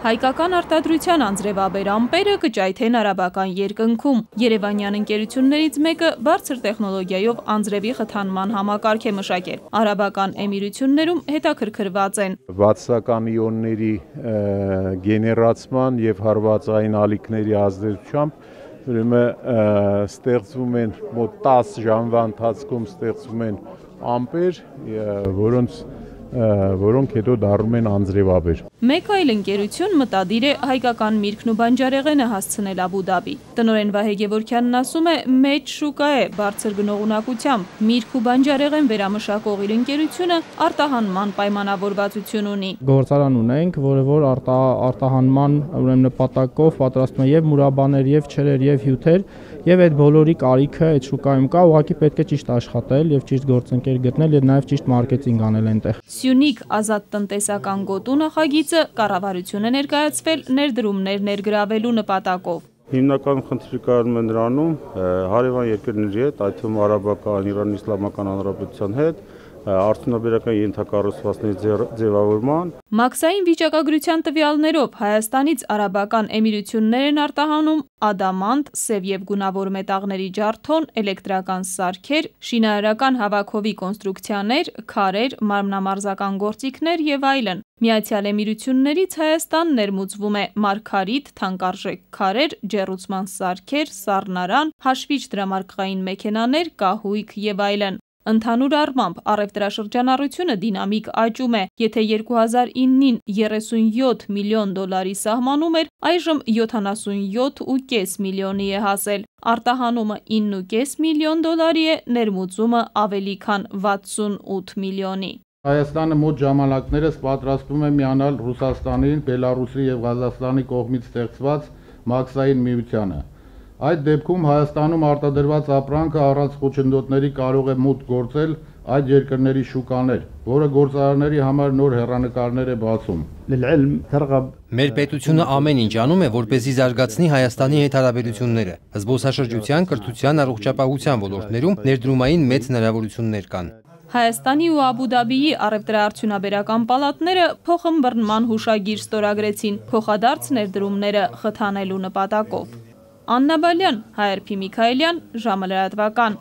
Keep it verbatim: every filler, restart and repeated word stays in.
Հայկական արտադրության անձրևաբեր ամպերը կճայթեն արաբական երկնքում։ Երևանյան ընկերություններից մեկը բարձր տեխնոլոգիայով անձրևի խթանման համակարգ է մշակել։ Արաբական էմիրություններում հետաքրքրված են վատսական իոնների գեներացման եւ հարվածային ալիքների ազդեցությամբ ուրեմն ստեղծվում են մոտ տասը ժամվա ընթացքում ստեղծվում են ամպեր, որոնց որոնք հետո դառնում են անձրևաբեր։ Մեկ այլ ընկերություն մտադիր է հայկական միրգն ու բանջարեղենը հասցնել Աբու Դաբի։ Տնօրեն Վահե Գևորգյանն ասում է, մեծ շուկա է բարձր գնողունակությամբ։ Միրգ ու բանջարեղեն վերամշակող իր ընկերությունը արտահանման պայմանավորվածություն ունի։ Գործարան ունենք, որը որ արտահանման ուրեմն նպատակով պատրաստում է եւ մուրաբաներ, եւ չրեր, եւ հյութեր, եւ այդ բոլորի կարիքը այդ շուկայում կա, ուղղակի պետք է ճիշտ աշխատել եւ ճիշտ գործընկեր գտնել եւ նաեւ ճիշտ մարքեթինգ անել այնտեղ։ Սյունիք ազատ տնտեսական գոտու նախագիծը կառավարություն է ներկայացվել ներդրումներ ներգրավելու նպատակով։ Հիմնական խնդիրը կայանում է նրանում հարևան երկրների հետ, այդ թվում արաբական, Իրանի իսլամական հանրապետության հետ, արդյունաբերական ենթակառուցվածքների ձևավորման։ Մաքսային վիճակագրության տվյալներով Հայաստանից արաբական էմիրություններ են արտահանում ադամանտ, սև եւ գունավոր մետաղների ջարդոն, էլեկտրական սարքեր, շինարարական հավաքովի կոնստրուկցիաներ, քարեր, մարմնամարզական գործիքներ եւ այլն։ Միացյալ Էմիրություններից Հայաստան ներմուծվում է մարգարիտ, թանկարժեք քարեր, ջեռուցման սարքեր, սառնարան, հաշվիչ դրամարկղային մեքենաներ, կահույք եւ այլն։ Ընդհանուր առմամբ առևտրաշրջանառությունը դինամիկ աճում է, եթե երկու հազար իննին երեսունյոթ միլիոն դոլարի սահմանում էր, այժմ յոթանասունյոթ ու կես միլիոնի է հասել։ Արտահանումը ինը ու կես միլիոն դոլարի է, ներմուծումը ավելի քան վաթսունութ միլիոնի։ Հայաստանը մոտ ժամանակներս պատրաստվում է միանալ Ռուսաստանի, Բելարուսի եւ Ղազախստանի կողմից ստեղծված մաքսային միությանը։ Այդ դեպքում Հայաստանում արտադրված ապրանքը առանց խոչընդոտների կարող է մուտք գործել այդ երկրների շուկաներ, որը գործարարների համար նոր հեռանկարներ է բացում։ Մեր պետությունը ամեն ինչ անում է, որպեսզի զարգացնի Հայաստանի հետ հարաբերությունները։ Զբոսաշրջության, կրթության, առողջապահության ոլորտներում ներդրումային մեծ հնարավորություններ կան։ Հայաստանի ու Աբու Դաբիի առևտրաարդյունաբերական պալատները փոխըմբռնման հուշագիր ստորագրեցին փոխադարձ ներդրումները խթանելու նպատակով։ Աննա Բալյան, Հայ Ար Փի Միքայելյան, ժամը լրատվական։